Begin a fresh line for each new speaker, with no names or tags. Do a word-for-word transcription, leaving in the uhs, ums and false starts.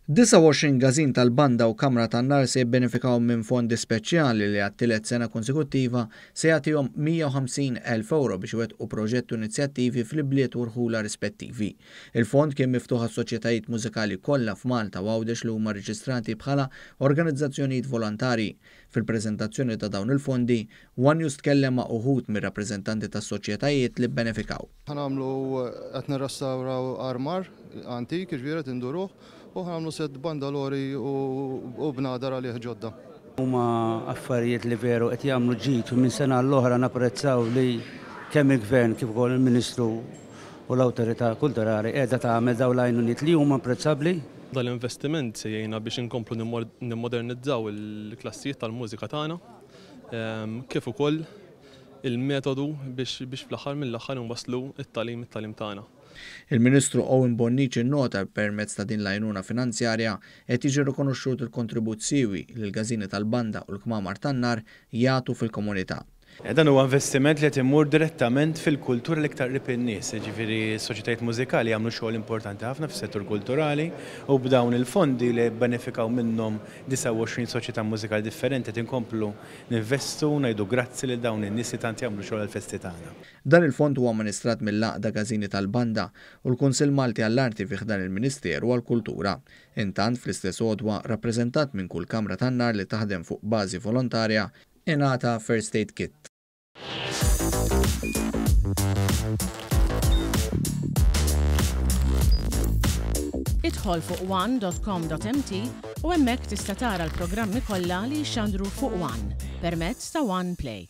Disgħa u għoxrin każin tal-banda u kamra tan-nar se jibbenefikaw minn fondi speċjali li għat-tielet sena konsekuttiva se jagħtihom mija u ħamsin elf euro biex iwettqu proġetti u inizjattivi fl-ibliet u rħula rispettivi. Il-fond kien miftuħ għas-soċjetajiet mużikali kollha f'Malta u Għawdex li huma rreġistrati bħala organizzazzjonijiet volontari. Fil-preżentazzjoni ta' dawn il-fondi, One News tkellem ma' uħud mir-rappreżentanti tas-soċjetajiet li bbenefikaw.
Ħa nagħmlu qed nirrestawraw armar antik, jiġifieri qed induruh, u ħa nagħmlu set bandalori u bnadar għalih ġodda.
Huma affarijiet li veru qed jagħmlu ġid u minn sena l-oħra napprezzaw li kemm il-Gvern kif ukoll il-Ministru u l-Awtorità Kulturali qiegħda tagħmel dawn l-għajnuniet li huma apprezzabbli.
Dal-investiment se jgħinna biex inkomplu nimmodernizzaw il-klassijiet tal-mużika tagħna, ehm, kif ukoll il-metodu biex, biex fl-aħħar mill-aħħar nwasslu it-tagħlim, it-tagħlim tagħna.
Il-Ministru Owen Bonnici nnota permezz ta' din l-għajnuna finanzjarja qed jiġi rikonoxxut il-kontribut siewi li l-każini tal-banda u l-kmamar tan-nar jagħtu fil-komunità.
Eh, dan huwa investiment li qed imur direttament fil-kultura l-iktar qrib in-nies, jiġifieri s-soċjetajiet mużikali jagħmlu xogħol importanti ħafna fis-settur kulturali u b'dawn il-fondi li bbenefikaw minnhom disgħa u għoxrin soċjetà mużikali differenti qed inkomplu ninvestu u ngħidu grazzi lil dawn in-nies li tant jagħmlu xogħol għall-festi tagħna.
Dan il-fond huwa amministrat mill-Għaqda Każini tal-Banda u l-Kunsill Malti għall-Arti fi ħdan il-Ministeru għall-Kultura. Intant fl-istess għodwa rappreżentat minn kull kamra tan-nar li taħdem fuq bażi volontarja ingħata First Aid Kit.
Idħol fuq one dot com dot M T u hemmhekk tista' tara l-programmi kollha li jixxandru fuq One permezz ta' One Play.